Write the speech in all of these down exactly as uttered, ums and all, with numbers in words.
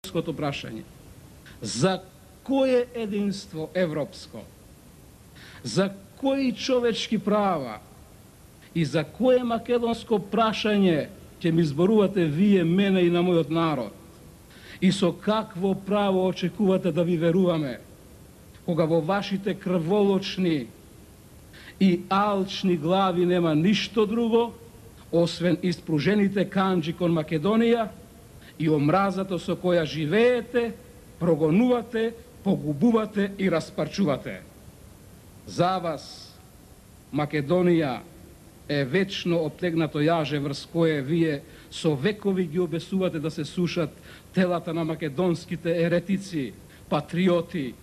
македонското прашање. За кое единство европско? За кои човечки права и за кое македонско прашање ќе ми зборувате вие, мене и на мојот народ? И со какво право очекувате да ви веруваме, кога во вашите крволочни и алчни глави нема ништо друго, освен испружените канџи кон Македонија и омразата со која живеете, прогонувате, погубувате и распарчувате. За вас Македонија е вечно оптегнато јаже врз кое вие со векови ги обесувате да се сушат телата на македонските еретици, патриоти,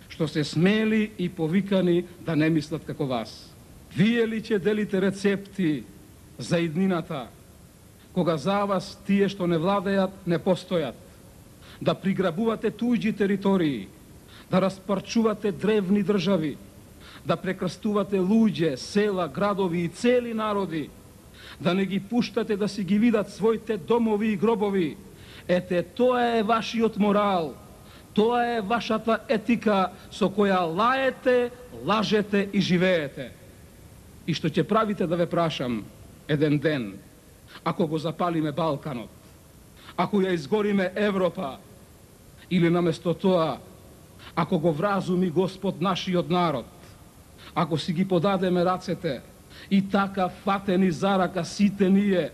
што се смели и повикани да не мислат како вас. Вие ли ќе делите рецепти за иднината, кога за вас тие што не владеат не постојат, да приграбувате туѓи територии, да распарчувате древни држави, да прекрстувате луѓе, села, градови и цели народи, да не ги пуштате да си ги видат своите домови и гробови. Ете, тоа е вашиот морал, тоа е вашата етика со која лаете, лажете и живеете. И што ќе правите, да ве прашам еден ден, ако го запалиме Балканот, ако ја изгориме Европа, или наместо тоа, ако го вразуми Господ нашиот народ, ако си ги подадеме рацете и така фатени за рака сите ние,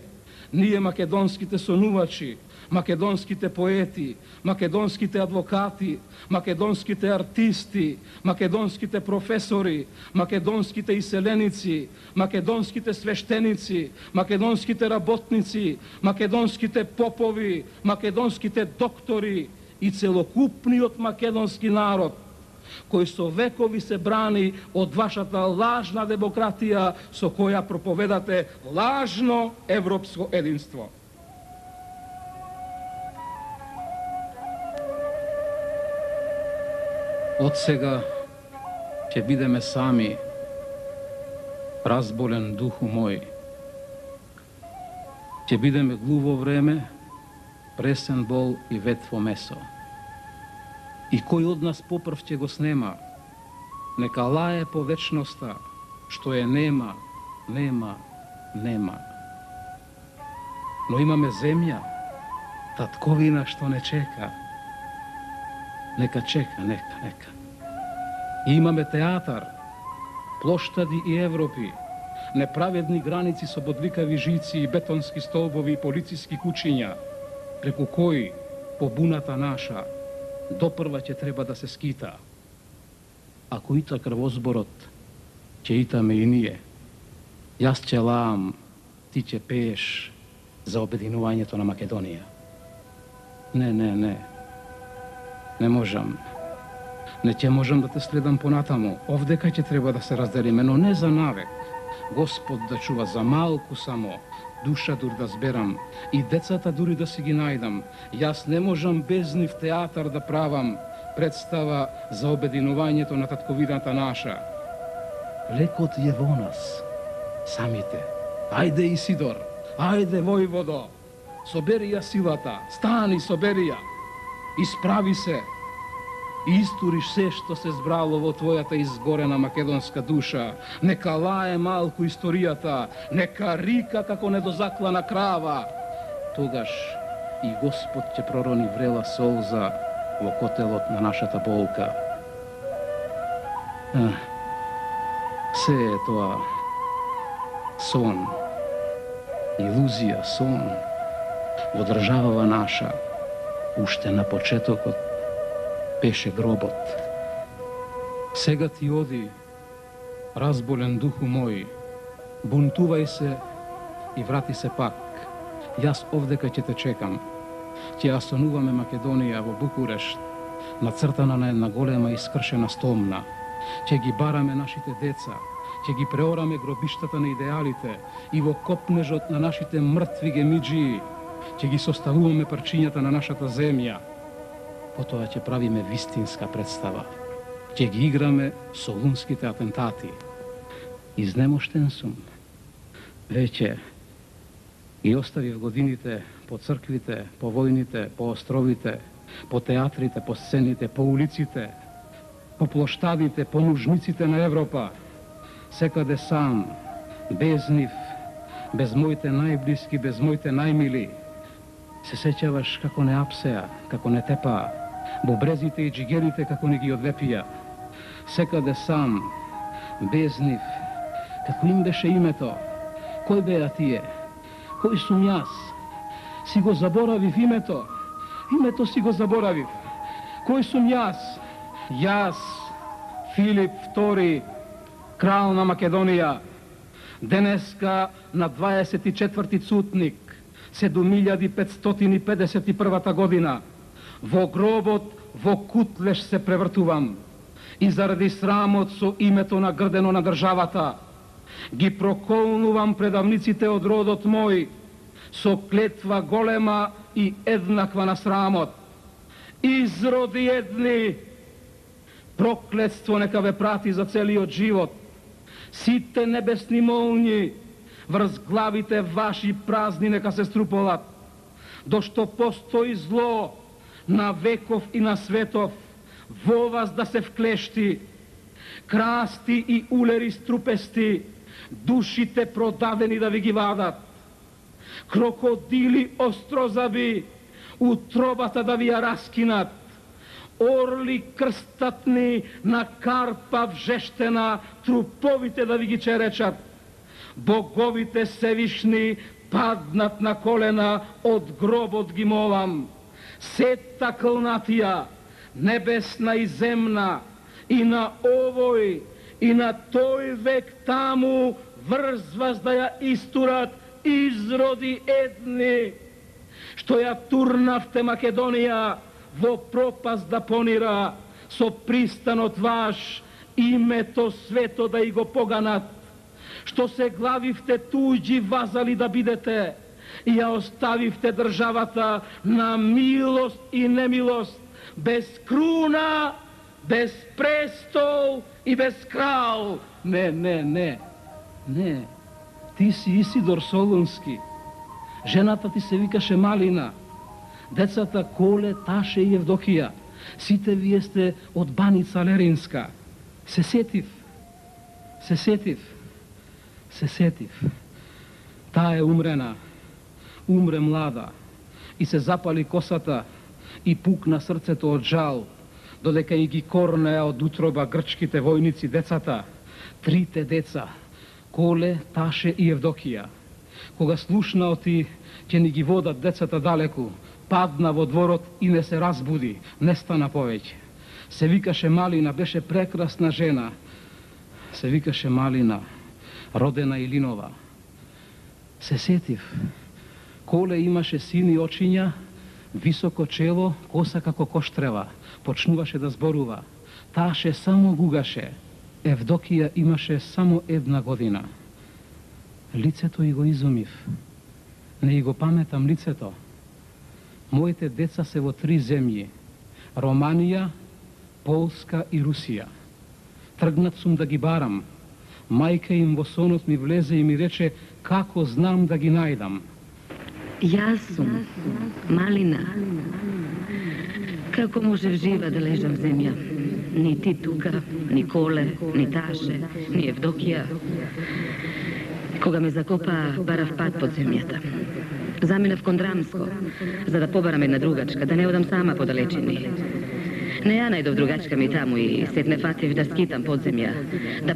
ние македонските сонувачи, македонските поети, македонските адвокати, македонските артисти, македонските професори, македонските иселеници, македонските свештеници, македонските работници, македонските попови, македонските доктори и целокупниот македонски народ, кој со векови се брани од вашата лажна демократија со која проповедате лажно европско единство. Од сега ќе бидеме сами, разболен духу мој. Ќе бидеме глуво време, пресен бол и ветво месо. И кој од нас попрв ќе го снема, нека лае по вечноста, што е нема, нема, нема. Но имаме земја, татковина што не чека. Нека чека, нека, нека. И имаме театар, плоштади и Европи, неправедни граници со бодликави жици и бетонски столбови и полициски кучиња, преку кои побуната наша допрва ќе треба да се скита. Ако ита крвозборот, ќе итаме и ние. Јас ќе лаам, ти ќе пееш за обединувањето на Македонија. Не, не, не. Не можам. Не ќе можам да те следам понатаму. Овдека ќе треба да се разделиме, но не за навек. Господ да чува, за малку само. Душа дур да зберам, и децата дури да си ги најдам. Јас не можам без нив театар да правам, представа за обединувањето на татковината наша. Лекот е во нас, самите. Ајде, Исидор, ајде, војводо, собери ја силата, стани, собери ја, исправи се, и истуриш се што се збрало во твојата изгорена македонска душа. Нека лае малку историјата, нека рика како недозаклана крава. Тогаш и Господ ќе пророни врела солза во котелот на нашата болка. А, се е тоа сон, илузија, сон во државава наша. Уште на почетокот пеше гробот. Сега ти оди, разболен духу мој, бунтувај се и врати се пак. Јас овдека ќе те чекам. Ќе астануваме Македонија во Букурешт, нацртана на една голема искршена стомна. Ќе ги бараме нашите деца, ќе ги преораме гробиштата на идеалите и во копнежот на нашите мртви гемиџии ќе ги составуваме парчињата на нашата земја. Потоа ќе правиме вистинска представа. Ќе ги играме солунските атентати. Изнемоштен сум. Веќе ги оставив годините по црквите, по војните, по островите, по театрите, по сцените, по улиците, по плоштадите, по нужниците на Европа, секаде сам, без нив, без моите најблиски, без моите најмили. Се сеќаваш како не апсеа, како не тепаа, бобрезите и джигерите како не ги одлепија. Секаде сам, без нив, како им беше името, кој беа тие, кој сум јас, си го заборавив името, името си го заборавив, кој сум јас, јас, Филип втори, крал на Македонија, денеска на дваесет и четврти цутник, седум илјади петстотини и педесет и првата година, во гробот во кутлеш се превртувам и заради срамот со името нагрдено на државата, ги проколнувам предавниците од родот мој со клетва голема и еднаква на срамот. Изроди едни, проклетство нека ве прати за целиот живот. Сите небесни молњи врз главите ваши празни нека се струполат, дошто постои зло на веков и на светов, во вас да се вклешти, красти и улери струпести, душите продадени да ви ги вадат, крокодили острозаби, утробата да ви ја раскинат, орли крстатни на карпа вжештена, труповите да ви ги черечат, боговите севишни паднат на колена, од гробот ги молам, сета клнатија, небесна и земна, и на овој, и на тој век таму врз вас да ја истурат изроди едни, што ја турнавте Македонија во пропаст да понира, со пристанот ваш името свето да и го поганат, што се главивте туѓи вазали да бидете и ја оставивте државата на милост и немилост, без круна, без престол и без крал. Не, не, не, не. Ти си Исидор Солунски. Жената ти се викаше Малина. Децата Коле, Таше и Евдокија. Сите вие сте од Баница Леринска. Се сетив. Се сетив. Се сетив. Таа е умрена. Умре млада. И се запали косата и пукна срцето од жал, додека и ги корнеа од утроба грчките војници децата, трите деца, Коле, Таше и Евдокија. Кога слушна оти ќе ни ги водат децата далеку, падна во дворот и не се разбуди, не стана повеќе. Се викаше Малина, беше прекрасна жена. Се викаше Малина, родена Илинова. Се сетив. Коле имаше сини очиња, високо чело, коса како коштрева, почнуваше да зборува. Таше само гугаше. Евдокија имаше само една година. Лицето и го изумив. Не и го паметам лицето. Моите деца се во три земји. Романија, Полска и Русија. Тргнат сум да ги барам. Мајка им во сонот ми влезе и ми рече како знам да ги најдам. Јас сум Малина. Како можев жива да лежам в земја? Ни ти тука, ни Коле, ни Таше, ни Евдокија. Кога ме закопа, барав пат под земјата. Заминав кон Драмско, за да побарам една другачка, да не одам сама по далечини. Не ја најдов другачка ми таму и сетне фатив да скитам под земја, да